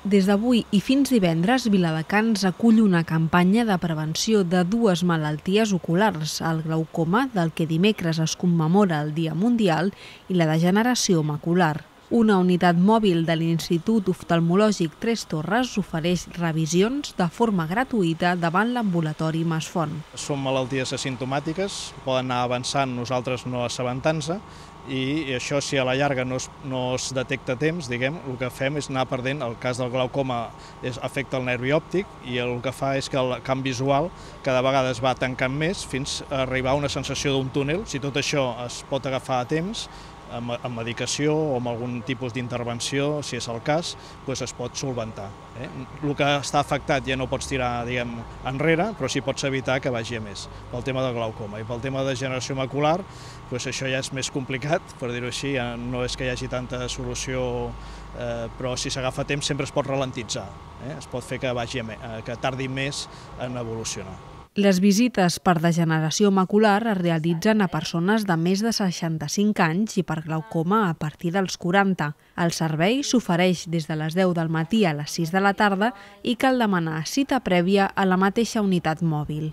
Des d'avui i fins divendres, Viladecans acull una campanya de prevenció de dues malalties oculars, el glaucoma, del que dimecres es commemora el Dia Mundial, i la degeneració macular. Una unitat mòbil de l'Institut Oftalmològic Tres Torres ofereix revisions de forma gratuïta davant l'ambulatori Masfont. Són malalties asimptomàtiques, poden anar avançant, nosaltres no assabentant-se, i això, si a la llarga no es detecta a temps, el que fem és anar perdent. El cas del glaucoma afecta el nervi òptic i el que fa és que el camp visual cada vegada es va tancant més fins a arribar a una sensació d'un túnel. Si tot això es pot agafar a temps, amb medicació o amb algun tipus d'intervenció, si és el cas, es pot solventar. El que està afectat ja no pots tirar enrere, però sí pots evitar que vagi a més, pel tema del glaucoma. I pel tema de degeneració macular, això ja és més complicat, per dir-ho així, no és que hi hagi tanta solució, però si s'agafa a temps sempre es pot ralentitzar, es pot fer que tardi més en evolucionar. Les visites per degeneració macular es realitzen a persones de més de 65 anys i per glaucoma a partir dels 40. El servei s'ofereix des de les 10 del matí a les 6 de la tarda i cal demanar cita prèvia a la mateixa unitat mòbil.